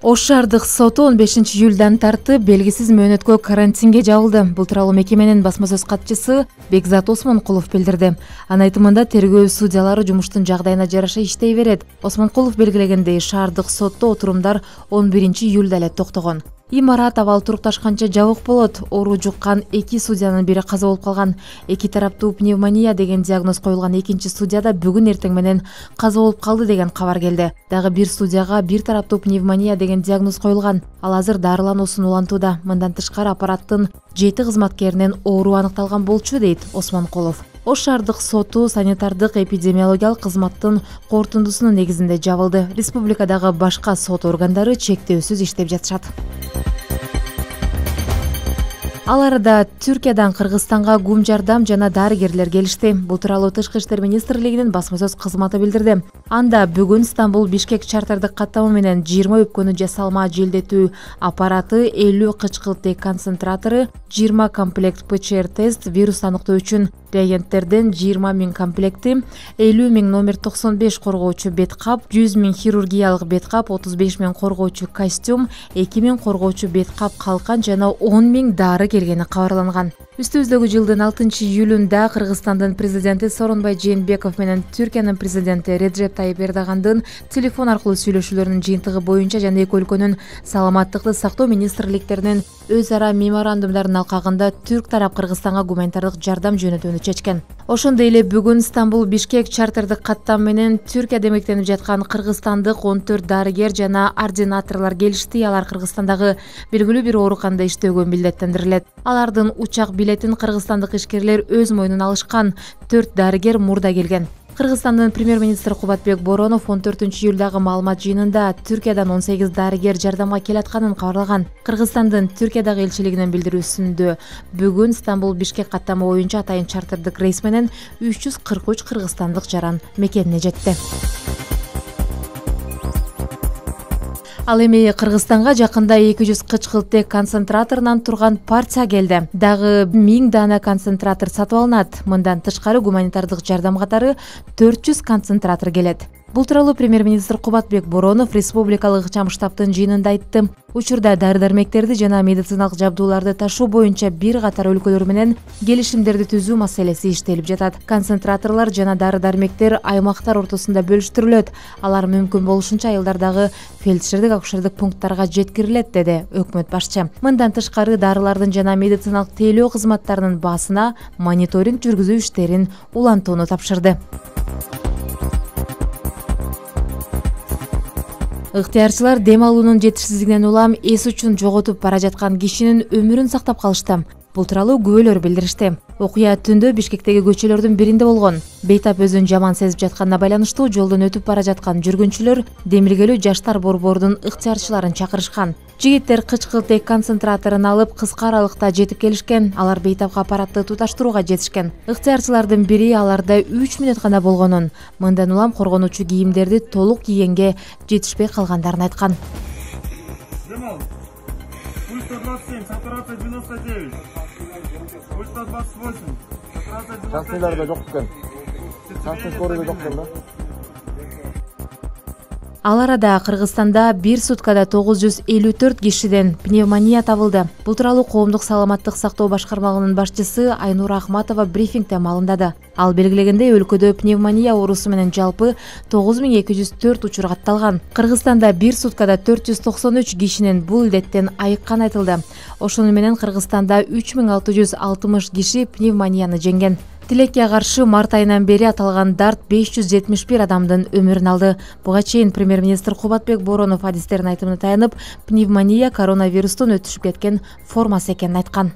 Ош шаардык соту 15 июлдан тартып белгисиз мөөнөткө карантинге жабылды. Бул тууралуу мекеменин басма сөз катчысы Бекзат Осмонкулов билдирди. Анын айтымында тергөө судьялары жумуштун жагдайына жараша иштей берет. Осмонкулов белгилегендей, шаардык сотто отурумдар 11 июлда эле токтогон. Имарат абал турукташканча жабык болот. Оору жуккан 2 судьянын бири каза болуп калган. 2 тараптуу пневмония деген диагноз коюлган экинчи судья да бүгүн эртең менен каза болуп калды деген кабар келди. Дагы бир судьяга бир тараптуу пневмония деген диагноз коюлган. Ал азыр дарылануусун улантууда. Мындан тышкары аппараттын 7 кызматкеринен оору аныкталган болчу, дейт Осмонкулов. Ош шаардык соту санитардык эпидемиологиялык кызматтын корутундусунун негизинде жабылды. Республикадагы башка сот органдары чектөөсүз иштеп жатышат. Ал арада Түркиядан Кыргызстанга гум жардам жана дарыгерлер келишти. Бул тууралуу Тышкы иштер министрлигинин басма сөз кызматы билдирди. Анда бүгүн Стамбул-Бишкек чартардык каттама менен 20 өпкөнү жасалма желдетүү аппараты, 50 кычкылтек концентратору, 20 комплект ПЧР тест, вирус аныктоо үчүн реагенттерден 20 000 комплекти, 50 000 номер 95 коргоочу бет кап, 100 000 хирургиялык бет кап, 35 000 коргоочу костюм, 2 000 коргоочу бет кап калкан жана 10 000 дары келгени кабарланган. Үстүбүздөгү жылдын 6 июлунда Кыргызстандын президенти Сооронбай Жээнбеков менен Түркиянын президенти Реджеп Тайип Эрдогандын телефон аркылуу сүйлөшүүлөрүнүн жыйынтыгы боюнча жана эки өлкөнүн саламаттыкты сактоо министрликтеринин өз ара меморандумдарынын алкагында түрк тарап Кыргызстанга гуманитардык жардам жөнөтүүнү чечкен. Ошондой эле бүгүн Стамбул-Бишкек чартардык каттам менен Түркияда эмгектенип жаткан кыргызстандык 14 дарыгер жана ординаторлор келишти. Алар Кыргызстандагы белгилүү бир ооруканада иштөөгө милдеттендирилет. Алардын учак билетин кыргызстандык ишкерлер өз мойнуна алышкан. 4 дарыгер мурда келген. Кыргызстандын премьер-министри Кубатбек Боронов 14 июлдагы маалымат жыйынында Түркиядан 18 дарыгер жардамга келатканын кабарлаган. Кыргызстандын Түркиядагы элчилигинин билдирүүсүндө бүгүн Стамбул-Бишкек каттама боюнча атайын чартардык рейс менен 343 кыргызстандык жаран мекенине жетти. Ал эми Кыргызстанга жакында 200 кычкылтек концентраторунан турган партия келди. Дагы 1000 дана концентратор сатып алынат. Мындан тышкары гуманитардык жардам катары 400 концентратор келет. Бул тууралуу премьер-министр Кубатбек Боронов республикалык ыкчам штабтын жыйынында айтты. Учурда дары-дармектерди жана медициналык жабдууларды ташуу боюнча бир катар өлкөлөр менен келишимдерди түзүү маселеси иштелип жатат. Концентраторлор жана дары-дармектер аймактар ортосунда бөлүштүрүлөт. Алар мүмкүн болушунча айылдардагы фельдшердик акушердик пункттарга жеткирилет, деди өкмөт башчы. Мындан тышкары дарылардын жана медициналык тейлөө кызматтарынын баасына мониторинг жүргүзүү иштерин улантууну тапшырды. Ыктыярчылар дем алуунун жетишсиздигинен улам эс учун жоготуп бара жаткан кишинин өмүрүн сактап калышты. Бул тууралуу күбөлөр билдиришти. Окуя түндө Бишкектеги көчөлөрдүн биринде болгон. Бейтап өзүн жаман сезип жатканына байланыштуу жолдон өтүп бара жаткан жүргүнчүлөр демилгелүү жаштар борбордун ыктыярчыларын чакырышкан. Жигиттер кычкылтек концентраторун алып кыска аралыкта жетип келишкен. Алар бейтапка аппаратты туташтырууга жетишкен. Ыктыярчылардын бири аларда 3 мүнөт гана болгонун, мындан улам коргонуучу кийимдерди толук кийгенге жетишпей калгандарын айткан. Пульс 127, сатурация 99. Пульс 128, сатурация 99. Частныйларда жок экен. Частный скорыйда жок экен да. Ал арада Кыргызстанда бир суткада 954 кишиден пневмония табылды. Бул тууралуу коомдук саламаттык сактоо башкармалыгынын башчысы Айнура Ахматова брифингде маалымдады. Ал белгилегендей, өлкөдө пневмония оорусу менен жалпы 9204 учур катталган. Кыргызстанда бир суткада 493 кишинин бул илдеттен айыкканы айтылды. Ошону менен Кыргызстанда 3660 киши пневмонияны жеңген. Тилекке каршы март айынан бери аталган дарт 571 адамдын өмүрүн алды. Буга чейин премьер-министр Кубатбек Боронов адистердин айтымына таянып, пневмония коронавирустун өтүшүп кеткен формасы экенин айткан.